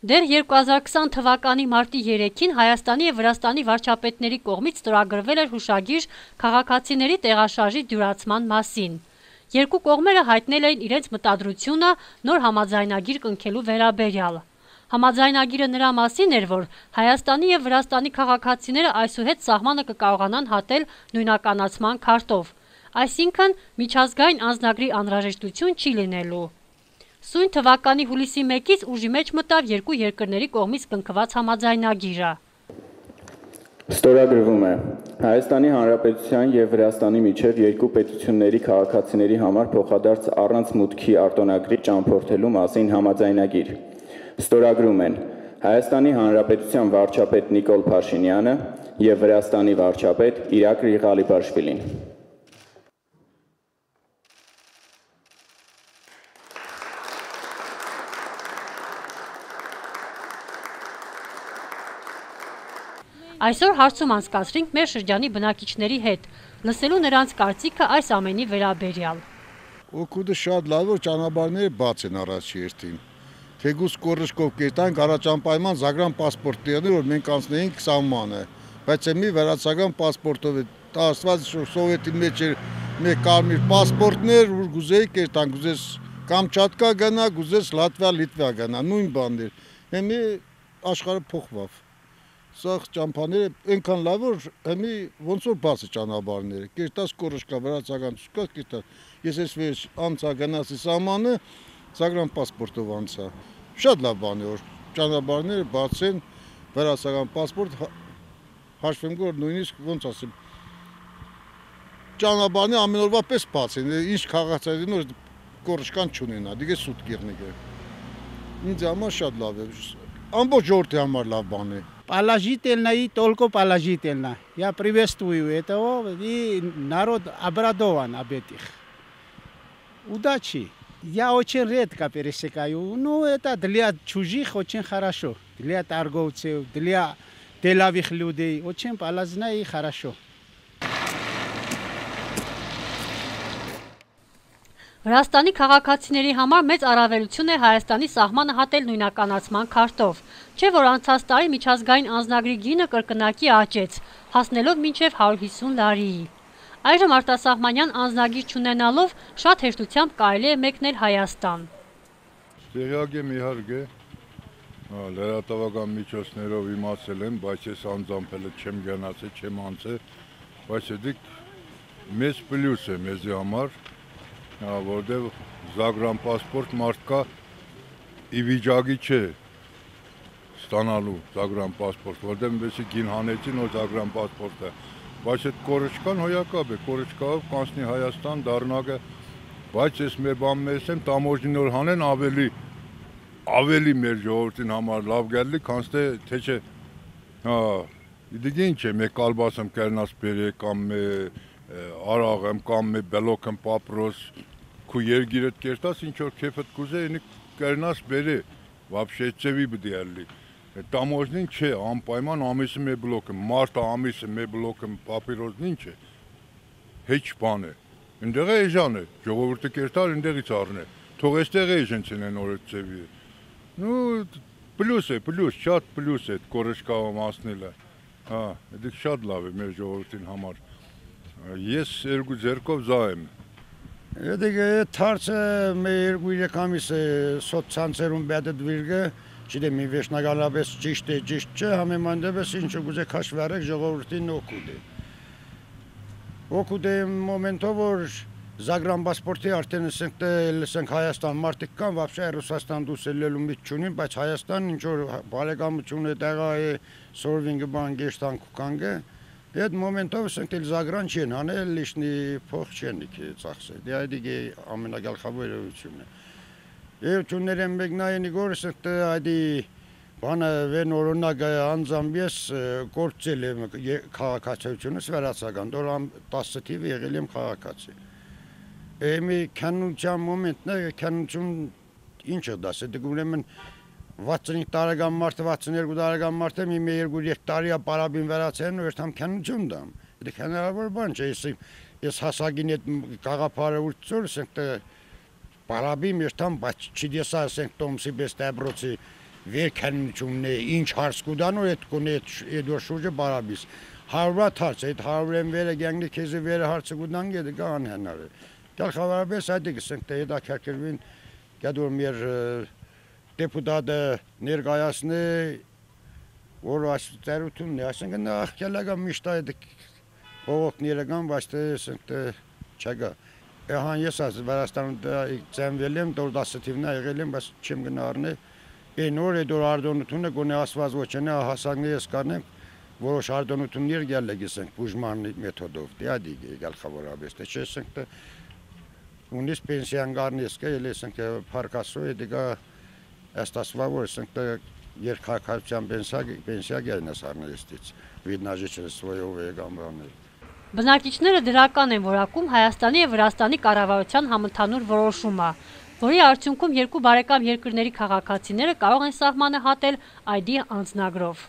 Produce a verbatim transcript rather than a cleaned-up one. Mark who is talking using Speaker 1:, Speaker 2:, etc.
Speaker 1: Դեռ երկու հազար քսան թվականի մարտի երեքին Հայաստանի եւ Վրաստանի վարչապետների կողմից ստորագրվել էր հուշագիր քաղաքացիների տեղաշարժի դյուրացման մասին։ Երկու կողմերը հայտնել էին իրենց մտադրությունը նոր համաձայնագիր կնքելու վերաբերյալ։ Համաձայնագիրը նրա մասին էր, որ Հայաստանի եւ Վրաստանի քաղաքացիները այսուհետ սահմանը կկարողանան հատել նույնականացման քարտով, այսինքն միջազգային անձնագրի անհրաժեշտություն չի լինելու։ Սույն թվականի հուլիսի մեկից ուժի մեջ մտավ երկու երկրների կողմից կնքված համաձայնագիրը։
Speaker 2: Ստորագրվում է Հայաստանի Հանրապետության եւ Վրաստանի միջև երկու պետությունների քաղաքացիների համար փոխադարձ առանց մուտքի արտոնագրի ճամփորդելու մասին համաձայնագիր։ Ստորագրում են Հայաստանի Հանրապետության վարչապետ Նիկոլ Փաշինյանը եւ Վրաստանի վարչապետ Իրակլի Ղալիբաշվիլին։
Speaker 1: Այսօր հարցում անցկացրինք մեր շրջանի բնակիչների հետ, լսելու նրանց կարծիքը այս ամենի վերաբերյալ։
Speaker 3: Օգուտը շատ լավ որ ճանապարհները բաց են առաջ երթին։ Թեգուս կորշկով կետանք առաջանպայման Զագրան պասպորտները որ մենք անցնեինք սահմանը, բայց մի վերացական պասպորտով է տասված սովետի մեջ էր մեկ կարմիր պասպորտներ որ գուզեի կետանք, գուզես Կամչատկա գնա, գուզես Լատվիա, Լիտվա գնա, նույն բանն էր։ Հիմա աշխարհը փոխվավ։ Սա ճամփաները այնքան լավ որ հիմի ոնց որ բաց է ճանապարհները։ Կերտած կորշկա վրացական ցուցկա կերտած։ Ես ես վեր անցա գնացի սահմանը Զագրան պասպորտով անցա։ Շատ լավ բան է որ ճանապարհները բաց են, վրացական պասպորտ հաշվեմ որ նույնիսկ ոնց ասեմ ճանապարհները ամեն օրվա պես բաց են։ Ինչ քաղաքացիներին որ կորշկան չունենա, դիգե սուտ գեղնիկը։ Ինձ համար շատ лав է։ Ամբողջ ժողովրդի համար լավ бан է։
Speaker 4: Положительно и только положительно. Я приветствую этого и народ обрадован об этих. Удачи. Я очень редко пересекаю. Ну, это для чужих очень хорошо. Для торговцев, для деловых людей очень полезно и хорошо.
Speaker 1: Վրաստանի քաղաքացիների համար մեծ առավելություն է Հայաստանի սահմանը հատել նույնականացման քարտով, չէ որ անցած տարի միջազգային անձնագրի գինը կրկնակի աճեց, հասնելով մինչև հարյուր հիսուն լարիի։ Այժմ արտասահմանյան անձնագիր չունենալով շատ հեշտությամբ կարելի է մեկնել Հայաստան։
Speaker 3: Տեղյակ եմ իհարկե, լրատվական միջոցներով իմացել եմ, բայց ես անձամբ չեմ գնացել, չեմ անցել, բայց դա մեծ պլյուս է մեզի համար։ Որտեղ Զագրան պասպորտ մարդկա ի վիճակի չէ ստանալու Զագրան պասպորտ, որտեղ մեզի գին հանեցին որ Զագրան պասպորտը, բայց այդ կորշկան հոյակապ է, կորշկայով կանցնի Հայաստան դառնակը, բայց ես մեր բան մեզ եմ տամոջին որ հանեն ավելի ավելի մեր ժողովրդին համար լավ գալի, կանցնե թե չէ, հա, իդիգ ինչ է, մեկ կալբասեմ կերնաս բերե կամ մե արաղեմ կամ մե բելոքեմ պապրոս քու երգիրդ կերտաս ինչ որ քեֆդ կուզե ինի կերնաս բերե вообще ծեվի բդիալի տամոջնին չէ անպայման ամիսը մե բլոկը մարտը ամիսը մե բլոկը պապիրոզն ինչ է հեչ բան է ընդեղ է էժան է ժողովուրդը կերտար ընդեղից առնե թող էստեղ էժենցին են օրը ծեվի նու պլյուս է պլյուս շատ պլյուս է կորշկայով մասնելը հա դա շատ լավ է մեր ժողովրդին համար ես երկու ձեռքով զա եմ։
Speaker 5: Եդիկը թարցը մեր երկու երեք ամիս է սոցցանցերում բադդվիրգը, չդեմ մի վերջնականապես ճիշտ է, ճիշտ չէ, համեմանդեպս ինչը գուզե քաշվի արեք ժողովրդին օգուտ է։ Օգուտ է մոմենտով որ Զագրան պասպորտի արդեն լսենք Հայաստան մարդիկ կան, вообще Ռուսաստան դուրս ելնելու միտք չունին, բայց Հայաստան ինչ որ բարեկամություն է տեղա է սորվինգը բան գեշտան կուկանգը Այդ մոմենտով ասենք էլ Զագրան չեն հանել, լիշնի փող չեն ծախսել։ Դա դիգե ամենագլխավոր երևույթն է։ Եվ ճուններ եմ մեկնային իգոր ասենք այդի բանը վեն օրինակ անձամբ ես գործել եմ քաղաքացիությունս վերացական, դոր տասը թիվ եղել եմ քաղաքացի։ Էմի քանության մոմենտն է, քանություն ինչը դասը դգուրեմն վաթսունհինգ տարեկան մարդը, վաթսունհերկու տարեկան մարդը մի երկու երեք տարի պարաբին վերացեն ու երթամ քանություն դամ։ Դա հնարավոր բան չէ, ես ես հասակին այդ գաղափարը ուծոր, ասենք պարաբին երթամ, բայց չդեսա ասենք տոմսի պես դաբրոցի վերքանությունն է, ինչ հարց կուտան ու այդ կոնե այդ շուրջը բարաբիս։ Հարվա հարց, այդ հարվրեն վերը գանգի քեզի վերը հարցը կուտան գեդը կան հնարը։ Գալխավարաբես այդ գսենք թե դա քերքերվին գադոր մեր դեպուտատը ներկայացնի որ աստրությունն է, ասենք նախ կելագա միշտ այդ բողոքները կան, բայց ասենք չկա։ Ահան ես ասես Վրաստանում ծնվել եմ, դորդասը թիվնա եղել եմ, բայց չեմ գնարնի։ Այն օր այդ արդոնությունը գոնե ասված ոչնե հասակներ ես կանեմ, որոշ արդոնություններ գալը գսենք բուժման մեթոդով։ Դե ադի գալխավորաբես, թե չեսենք ունիս պենսիան գարնես կա, ելեսենք փարկասո է դիգա աստասվավորսենք երկհարկության պենսիա պենսիա գայնաս առնեստից վիդնաժիչը սվոյով է գամբանել։
Speaker 1: Բնակիչները դրական են որակում Հայաստանի եւ Վրաստանի կառավարության համընդհանուր որոշումը, որի արդյունքում երկու բարեկամ երկրների քաղաքացիները կարող են սահմանը հատել այ դի անձնագրով։